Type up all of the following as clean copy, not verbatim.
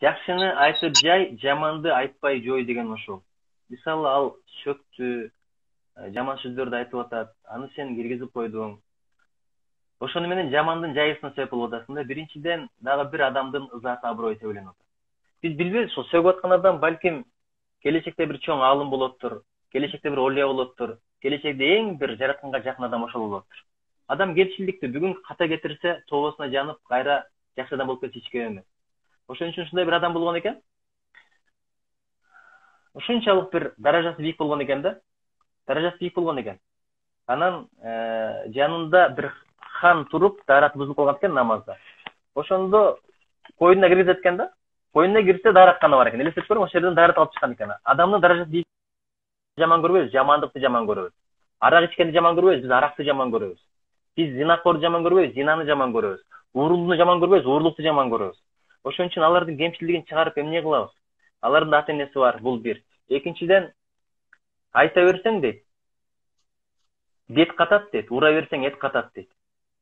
Жакшыны айтып жай, жаманды айтпай жой деген ошол. Мисалы ал шөктү, жаман сөздөрдү айтып атат, аны сен киргизип койдуң. Ошону менен жамандын жайысына себеп болуп атасың да. Биринчиден дагы бир адамдын ызасы, аброю тебеленип атат. Биз билбейбиз, ошол сөгүп аткан адам балким келечекте бир чоң аалым болоттур, келечекте бир олия болоттур, келечекте эң бир жаратканга жакын адам ошол болоттур. Адам кемчилдикти бүгүн ката кетирсе, тобосуна жанып, кайра жакшы адам болуп кетсе эч кем эмес. Ошон үчүн ушундай бир адам болгон экен. Ушунчалык бир даражасы бийик болгон экен да. Даражасы бийик болгон экен. Анан жанында бир хан туруп, даараты бузулуп калган экен намазда. Ошондо койнуна киргизет экен да. Койнуна кирсе дааратканы бар экен. Элестетип көрүң, ошол жерден даарат алып чыккан экен. Адамдын даражасы бийик жаман көрбөйбүз, жамандыкты жаман көрөбүз. Арак ичкенди жаман көрбөйбүз, биз аракты жаман көрөбүз. Биз зинакорду жаман көрбөйбүз, зинаны жаман көрөбүз. Уурулууну жаман көрбөйбүз, уурурлукту жаман көрөбүз. Ошон үчүн алардын кемчилигин чыгарып эмне кылабыз? Алардын ата энеси бар, бул бир. Экинчиден, айта берсең дейт, бет катат дейт, ура берсең эт катат дейт.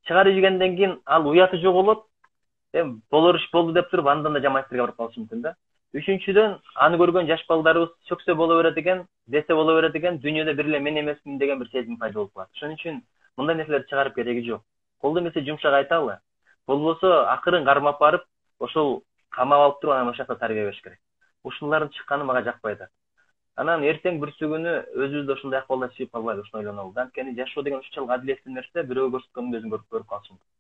Чыгарып жибергенден кийин ал уяты жоголот, болор иш болду деп туруп андан да жаман иштерге барып калышы мүмкүн да. Үчүнчүдөн, аны көргөн жаш балдарыбыз сөксө боло берет экен, десе боло берет экен, дүйнөдө бир эле мен эмесмин деген бир сезим пайда болуп калат. Ошон үчүн мындай нерселерди чыгарып кереги жок. Колдо эмесе жумшак айталы. Болбосо акырын кармап барып, ошол камап алып туруп анан ошол жакта тарбия бериш керек. Ушулардын чыкканы мага жакпайт. Анан эртең бүрсү күнү өзүбүздө ушундай акыбалда чыгып калбайбыз, ушуну ойлонолу. Анткени жашоо деген ушунчалык адилеттүү нерсе, бирөөгө көрсөткөндүн өзүн көрүп калышы мүмкүн.